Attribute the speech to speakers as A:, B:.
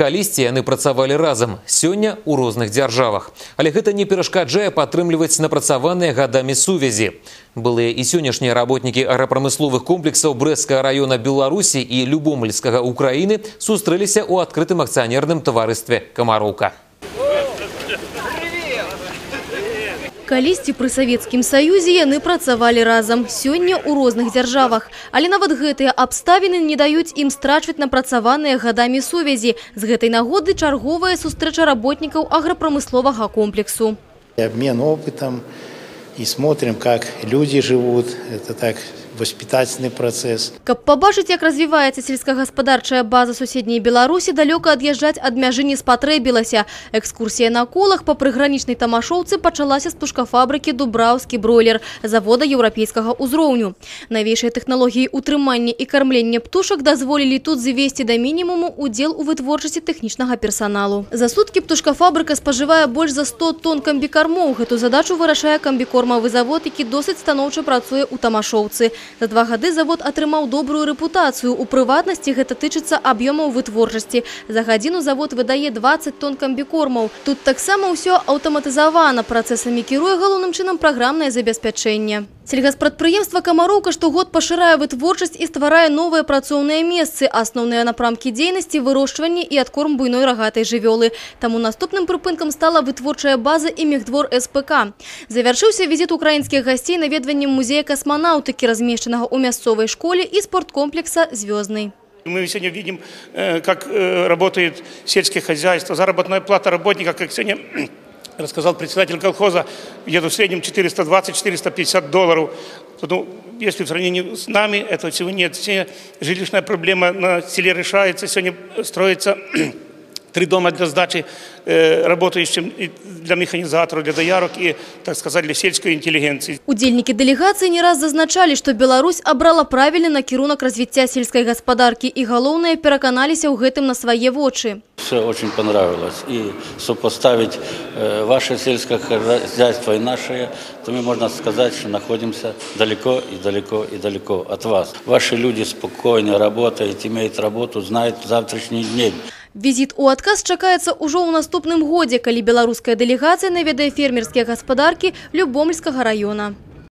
A: Калісьці яны працавалі разам, сёння ў розных дзяржавах. Але гэта не перашкаджае падтрымліваць напрацаваныя гадамі сувязі. Былыя і сённяшнія работнікі агропрамысловых комплексаў Брэсцкага района Беларусі і Любомльскага Украіны сустрэліся ў адкрытым акцыянерным таварыстве «Камароўка».
B: Калісьці пры Савецкім Саюзе яны працавалі разам, сёння ў розных дзяржавах. Але нават гэтыя абставіны не даюць ім страчваць напрацаваныя гадамі сувязі. З гэтай нагоды чарговая сустрэча работнікаў агропрамысловага комплексу.
C: Обмен опытом и смотрим, как люди живут. Это так воспитательный процесс.
B: Каб побачыць, як развіваецца сельскагаспадарчая база суседняй Беларусі, далёка ад'язджаць ад мяжы не спатрэбілася. Экскурсія на колах па прыгранічнай Тамашоўцы пачалася з птушкафабрыкі «Дубраўскі бройлер» завода еўрапейскага ўзроўню. Навейшыя тэхналогіі утрымання і кармлення птушак дазволілі тут звесці да мінімуму удзел у вытворчасці тэхнічнага персаналу. За суткі птушкафабрыка спажывае больш за 100 тонн камбікармоў. Гэту задачу вырашае камбікормавы завод, які досыць станоўча працуе ў Тамашоўцы. За 2 гады завод атрымаў добрую рэпутацыю. У прыватнасці гэта тычыцца аб'ёмаў вытворчасці. За гадзіну завод выдае 20 тонн камбікормаў. Тут таксама ўсё аўтаматызавана. Працэсамі кіруе галоўным чынам праграмнае забеспячэнне. Сельгаспрадпрыемства «Камароўка» штогод пашырае вытворчасць і стварае новыя працоўныя месцы. Асноўныя напрамкі дзейнасці – вырошчванне і адкорм буйной рагатай жывёлы. Таму наступным прыпынкам стала вытворчая база і мехдвор СПК. Завяршыўся візіт украінскіх гасцей наведваннем музея касманаўтыкі, размешчанага ў мясцовай школе і спорткомплекса «Звездный».
D: Мы сегодня видим, как работает сельское хозяйство, заработная плата работника, как сегодня рассказал председатель колхоза, где-то в среднем $420–450. Ну, если в сравнении с нами, этого всего нет. Сегодня жилищная проблема на селе решается, сегодня строится 3 дома для сдачи работающим для механизаторов, для доярок и, так сказать, для сельской интеллигенции.
B: Удзельники делегации не раз зазначали, что Беларусь обрала правильный накірунак развития сельской господарки и, галоўнае, пераканаліся ў гэтым на свои вочы.
E: Все очень понравилось. И сопоставить ваше сельское хозяйство и наше, то мы, можно сказать, что находимся далеко и далеко и далеко от вас. Ваши люди спокойно работают, имеют работу, знают завтрашний день.
B: Візіт у адказ чакаецца ўжо ў наступным годзе, калі беларуская дэлегацыя наведае фермерскія гаспадаркі Любомльскага района.